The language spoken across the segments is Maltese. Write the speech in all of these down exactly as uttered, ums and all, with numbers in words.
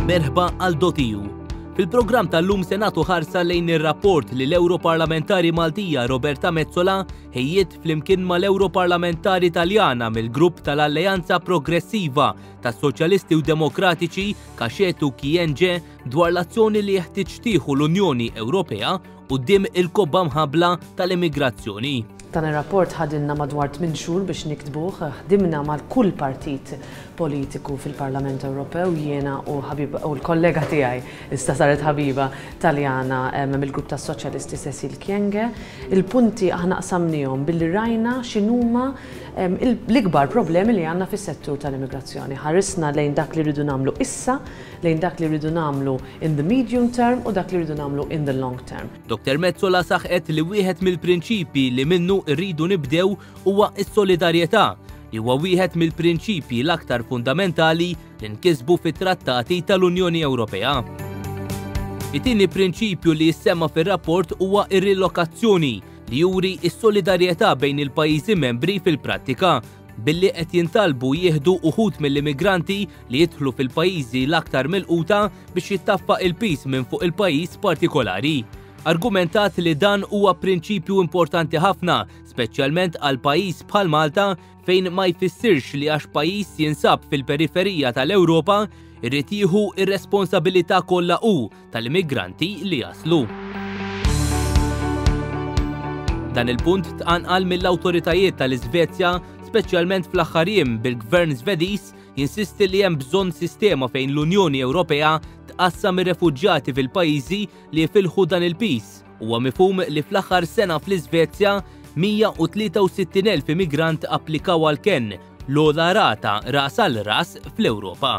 Merħba għal dot E U. Fil-programm tal-lum se nagħtu ħarsa lejn ir-rapport li l-Europarlamentari Maltija Roberta Metsola ħejjiet flimkien mal-Europarlamentari Taljana mill-grupp tal-Alleanza Progressiva tas-Soċjalisti u Demokratiċi Kashetu Kyenge dwar l-azzjoni li jeħtieġ tieħu l-Unjoni Ewropea quddiem il-kobba mħabla tal-immigrazzjoni. Dan ir-rapport ħadilna madwar tmien xhur biex niktbuh, ħdimna mal kull partit politiku fil-Parlament Ewropew, jiena u ħabiba u l-kollega tiegħi issa saret ħabiba Taljana mill-grupp tas-Soċjalisti Cecile Kyenge. Il-punti aħna qsamnihom billi rajna x'inhuma l-ikbar problemi li għandna fis-settur tal-immigrazzjoni. Ħarisna lejn dak li rridu nagħmlu issa, lejn dak li rridu nagħmlu in the medium term u dak li rridu nagħmlu in the long term. Doktor Metsola saħqet li wieħed mill-prinċipi li minnu rridu nibdew huwa s-solidarjetà, li huwa wieħed mill-prinċipji l-aktar fundamentali li nkisbu fit-trattati tal-Unjoni Ewropea. It-tieni prinċipju li jissemma fir-rapport huwa ir-rilokazzjoni, li juri s-solidarjetà bejn il-pajjiżi membri fil-prattika, billi qed jintalbu jieħdu uħud mill-immigranti li jidħlu fil-pajjiżi l-aktar milquta biex jittaffa il-piż minn fuq il-pajjiż partikolari. Argumentat li dan huwa prinċipju importanti ħafna, speċjalment għal pajjiż bħal Malta, fejn ma jfissirx li għax pajjiż jinsab fil-periferija tal-Ewropa irrid jieħu ir-responsabilità kollha hu tal-immigranti li jaslu. Dan il-punt tqanqal mill-awtoritajiet tal-Iżvezja, speċjalment fl-aħħar jiem, bil-Gvern Svediż jinsisti li hemm bżonn sistema fejn l-Unjoni Ewropea tqassam ir-refuġjati fil-pajjiżi li jifilħu dan il-piż. Huwa mifhum li fl-aħħar sena fl-Iżvezja mija u tlieta u sittin elf immigrant applikaw għal ken, l-ogħla rata ras għal ras fl-Ewropa.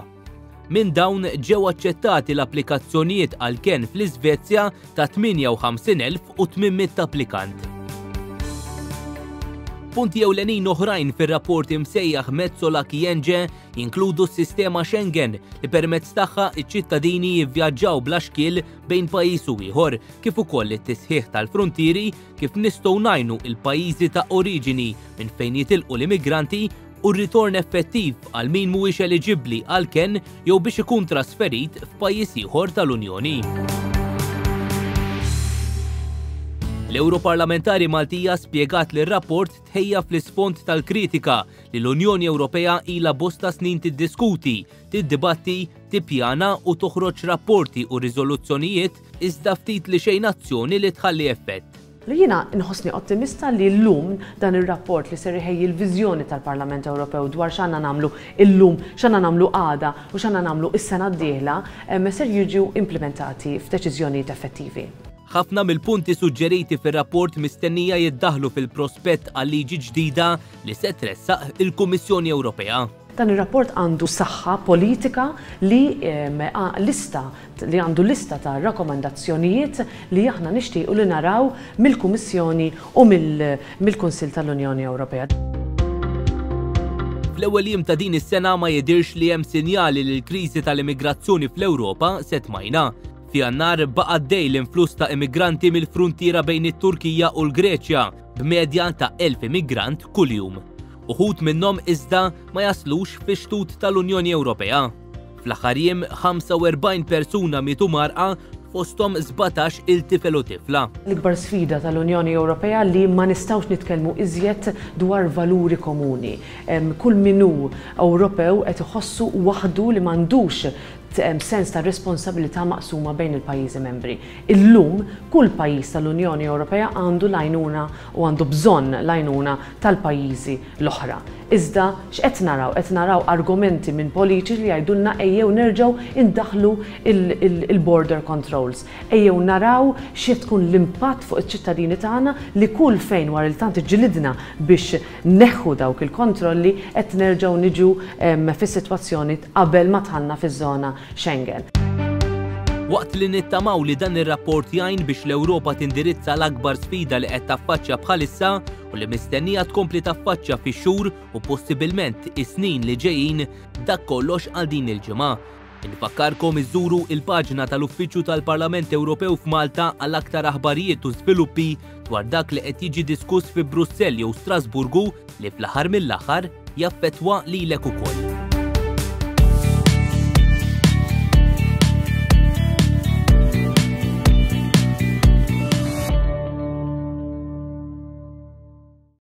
Minn dawn ġew aċċettati l-applikazzjonijiet għal ken fl-Iżvezja ta' tmienja u ħamsin elf u tmien mitt applikant. Punti ewlenin oħrajn fir-rapport imsejjaħ Metsola Kyenge jinkludu s-sistema Schengen, li permezz tagħha iċ-ċittadini jivvjaġġaw bla xkiel bejn pajjiż u ieħor, kif ukoll it-tisħiħ tal-frontieri, kif nistgħu ngħinu il-pajjiżi ta' oriġini minn fejn jitilqu l-immigranti u r-ritorn effettiv għal min mhuwiex eliġibbli għal ken jew biex ikun trasferit f'pajjiż ieħor tal-Unjoni. L-Europarlamentari Maltija spjegat li r-rapport tħejja fl-isfond tal-kritika li l-Unjoni Ewropea ila bosta snin tiddiskuti, tiddibatti, tippjana u toħroġ rapporti u riżoluzzjonijiet, iżda ftit li xejn azzjoni li tħalli effett. Li jiena nħossni ottimista li llum dan ir-rapport li ser iħejji l-viżjoni tal-Parlament Ewropew dwar x'għandna nagħmlu illum, x'għandna nagħmlu għada u x'għandna nagħmlu is-sena d-dieħla ser jiġu implementati f'deċiżjonijiet effettivi. Ħafna mill-punti suġġeriti fir-rapport mistennija jiddaħlu fil-prospett għal liġi ġdida li se tressaq il-Kummissjoni Ewropea. Dan ir-rapport għandu saħħa politika li lista li għandu lista ta' rakkomandazzjonijiet li aħna nixtiequ li naraw mill-Kummissjoni u mill-Kunsill tal-Unjoni Ewropea. Fl-ewwel jiem ta' din is-sena ma jidirx li hemm sinjali li l-kriżi tal-immigrazzjoni fl-Ewropa se tmajna. F'Jannar baqa' għaddej l-influss ta' immigranti mill-fruntiera bejn it-Turkija u l-Greċja, b'medja ta' elf immigrant kuljum. Uħud minnhom iżda ma jaslux fi xtut tal-Unjoni Ewropea. Fl-aħħar jiem ħamsa u erbgħin persuna mietu mgħarrqa, fosthom sbatax il-tifel u tifla. L-ikbar sfida tal-Unjoni Ewropea li ma nistgħux nitkellmu iżjed dwar valuri komuni. Kull min hu Ewropew qed iħossu waħdu li m'għandux sens ta' responsabilità maqsuma bejn il-pajjiżi membri. Illum kull pajjiż tal-Unjoni Ewropea għandu l-għajnuna u għandu bżonn l-għajnuna tal-pajjiżi l-oħra. Iżda x'qed naraw? Qed naraw argumenti minn politiċi li jgħidulna ejjew nerġgħu indaħlu il-border controls. Ejjew naraw xi tkun l-impatt fuq iċ-ċittadini tagħna li kull fejn wara li tant ġilidna biex neħħu dawk il-kontrolli qed nerġgħu niġu fis-sitwazzjoni qabel ma dħalna fiż-żona Schengen. Waqt li nittamaw li dan ir-rapport jgħin biex l-Ewropa tindirizza l-akbar sfida li qed taffaċċja bħalissa u li mistennija tkompli taffaċċja fix-xhur u possibilment is-snin li ġejjin, dak kollox għal din il-ġimgħa. Infakkarkom iżuru il-paġna tal-Uffiċċju tal-Parlament Ewropew f'Malta għal aktar aħbarijiet u żviluppi dwar dak li qed jiġi diskuss fi Brussell jew Strasburgu li fl-aħħar mill-aħħar jaffettwa lilek ukoll.